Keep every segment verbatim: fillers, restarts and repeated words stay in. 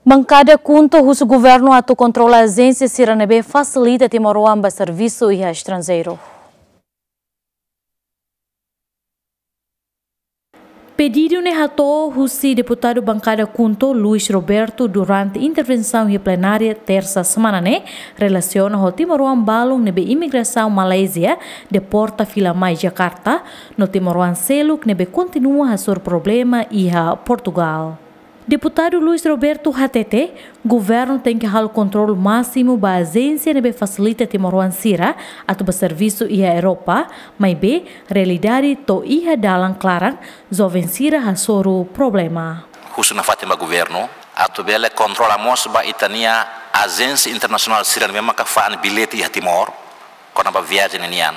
Bankada KHUNTO husu governu atu kontrola ajénsia sira ne'ebé fasilita timoroan ba servisu iha estranjeiru. Pedidu ne'e hato'o husi deputadu bankada KHUNTO, Luis Roberto, durante intervensaun iha plenária tersa semana ne'e, relasiona ho timoroan balun ne'ebé imigrasaun Malázia deporta fila mai Jakarta, no timoroan seluk ne'ebé kontinua hasoru problema iha Portugal. Deputadu Luis Roberto hatete, governu tenke halo kontrolu másimu ba ajénsia ne'ebé fasilita timoroan sira atu ba servisu iha Europa, maibé realidade to'o iha dalan klaran, joven sira hasoru problema. Husu nafatin ba governu atu bele kontrola mós ba ita-nia ajénsia internasionál sira ne'ebé maka fa'an bilhete iha Timor, kona-ba viajen nian.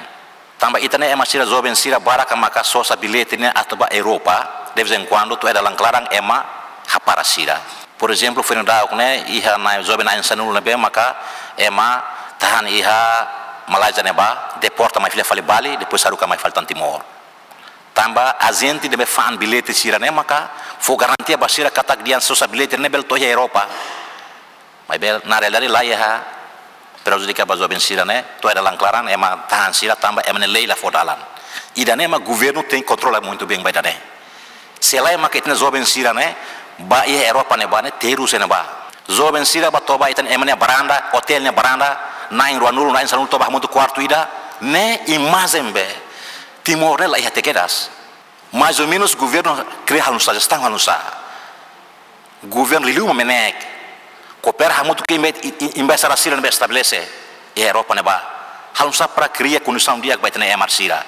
Tanba ita-nia ema sira, joven sira barak maka sosa bilhete ne'e atu ba Europa, de vez em quando, to'o iha dalan klaran ema hapara sira. Por ezemplu, foin daudauk ne'e, iha na'in, joven na'in-sanulu ne'ebé maka ema tahan iha Malázia ne'ebá, deporta mai fila fali Bali, depois haruka mai fali tan Timor. Tanba ajente ne'ebé fa'an bilhete sira ne'e maka fó garantia ba sira katak dehan sosa bilhete ne'e bele to'o iha Europa. Maibé na realidade laiha, prejudika ba joven sira ne'e, to'o iha dalan klaran ema tahan sira tanba ema nia lei la fó dalan. Ida-ne'e mak governu tenke kontrola muito bem ba ida-ne'e. Se lae maka ita-nia joven sira ne'e ba iha Europa ne'ebá ne'e terus ne'ebá. Joven sira ba toba ita-nia ema nia varanda, otél nia varanda, na'in ruanulu, na'in-sanulu toba hamutuk kuartu ida, ne'e imajen be Timor ne'e laiha te kedas. Mais ou menus governu kria halo nu'usá, jestaun halo nu'usá. Governu liuliu mak MNEK koopera hamutuk ho emba-, i-, i-, embaixada sira ne'ebé estabelese iha Europa ne'ebá. Halo nu'usá para kria kondisaun di'ak ba ita-nia ema sira.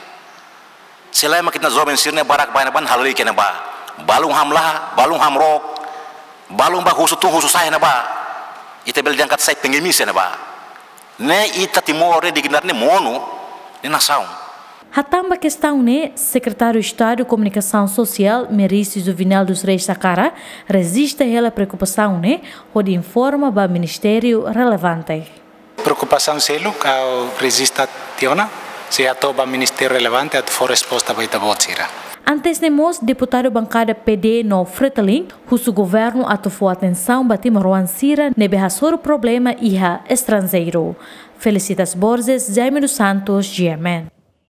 Se lae mak ita-nia joven sira ne'e barak ba ne'ebá, halo lei ke ne'ebá. Balun hamlaha, balun hamrook, balun ba husu tun husu sa'e ne'ebá. Ita bele dehan katak sai pengemis iha ne'ebá. Ne'e ita Timor ne'e dignidade ne'e monu, ne'e nasaun. Hatán ba kestaun ne'e, Sekretáriu Estadu Komunikasaun Sosiál, Merício Juvenal dos Reis Sacara, rejista hela preokupasaun ne'e, hodi informa ba ministériu relevante. Preokupasaun seluk ha'u rejista tiha ona, sei hato'o ba ministériu relevante atu fó resposta ba ita-boot sira. Antes ne'e mós, deputadu bankada PD no Fretilin husu governu atu fó atensaun ba timoroan sira ne'ebé hasoru problema iha estranjeiru. Felicitas Borges, Jaime dos Santos, G M N.